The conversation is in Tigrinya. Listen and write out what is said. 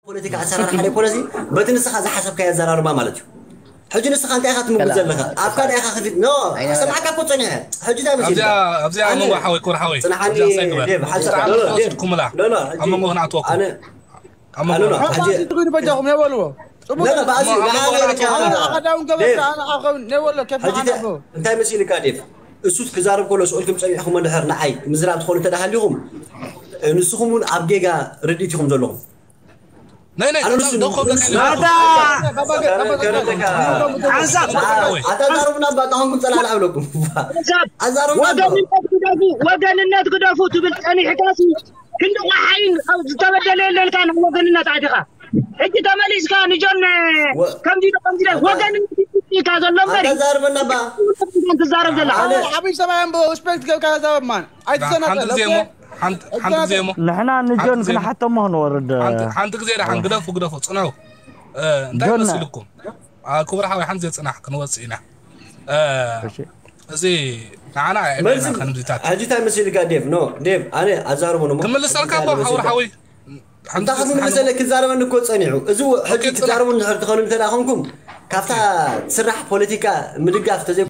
ፖለቲካ ኣሰራርሓ ዘይኮነሲ፣ በቲ ንስኻ ዝሓሰብካዮ ኣዘራርባ ማለት እዩ። ሕጂ ንስኻ እንታይ ኢኻ ትምጉት ዘለኻ? ኣብካ እንታይ ኢኻ ክፊት? ኖ፣ ኣይነበረ። ሰማዕካ እኮ ጸኒሐ። ሕጂ እንታይ መሲልካ? ኣብዚኣ ኣብዚኣ ኣነ መዋ ሓወይ፣ ክቡር ሓወይ፣ ጽንሓኒ፣ ኣብዚኣ ሳይ ግበር። ዴቭ፣ ሓንሳብ ኣነ ዴቭ። ክምላ። ኖ፣ ኖ፣ ኣብ ሕጂ መንጎ ክንኣትወኩም። ኣነ ኣብ መንጎ ኣነ ክንኣትወኩም። ሕጂ ትግሪ በጃኹም የበልዎ። ጽቡቕ። ኖ፣ ኖ፣ ብኣዚ ኖ፣ ኣብ ንዓና መንጎ ይበልካ። ክንኣትወኩም። ኣነ ኣኸዳውን ገበርካ፣ ዴቭ። ኣነ ኣኸውን፣ ነይ ወሎ፣ ከፍ ሕጂ ንዓና እንታይ፣ ንብሎ። እንታይ መሲልካ ዴቭ? እሱ ክዛረብ ከሎ ስኡልኩም ጸኒሕኩም እንድሕር ንዓይ ምዝራብ ትኾኑ እንተ ደኣ ሃሊኹም፣ ንስኹም እውን ኣብ ጌጋ ርድኢት ኢኹም ዘለኹም። ናይ ናይ ኣነ ንሱ ደው ክብለካ ኢለ። ኣታ ኣታ ዛሩብና እባ፣ ኣታ ኾንኩም ጸላዕላዕ ብለኩም። ኣዛሩብና እባ። ወገንነት ግደፉ፣ ወገንነት ግደፉ ትብል ጸኒሕካሲ ክንዲ ቆሓይን ዝተበደለ የለንካ፣ ናብ ወገንነት ኣቲኻ። ሕጂ ተመሊስካ ንጆን ወ- ከምዚ ኢሉ ከምዚ ኢሉ ወገንነት ኢልካ ዘሎ እምበር ኣታ ዛሩብና እባ። ትዛረብ ዘለኻ። ኣነ ዓብይ ሰብኣይ እምበር ሪስፔክት ገብካ ተዛረብ ማን። ሓንቲ ኣይትዘናጋዕ፣ ግዜ እሞ፣ ኦኬ? ሓንቲ፣ ሓንቲ ግዜ እሞ። ንሕና ንጆን ሓንቲ ግዜ እሞ። ክንሓተሞ ክንወርድ። ሓንቲ፣ ሓንቲ ግዜ ደሓን ግደፉ፣ ግደፉ፣ ጽንሑ። እ፣ እንታይ ጆን። መሲልኩም? ኣ፣ ክቡር ሓወይ፣ ሓንቲ ግዜ ጽናሕ፣ ክንወጽእ ኢና። እ፣ እሺ። እዚ ንዓና ኣይዕብየና መልሲ፣ ከምዚታት። ሕጂ እንታይ መሲልካ ዴቭ? ኖ፣ ዴቭ፣ ኣነ ኣዛርቦ ነው። ክምልሰልካ እንታይ እኮ፣ ሓውር መሲልካ? ሓወይ። ሓንቲ እንታይ ግዜ ክትምልሰለ? ሓንቲ ክዛረበኒ እኮ ጸኒሑ። እዚ ሕጂ ኦኬ፣ ጽናሕ። ክዛረቡ እንድሕር ትኸኑ እንተ ደኣ ኾንኩም፣ ካብታ ትስራሕ ፖለቲካ ምድጋፍ ተዘይ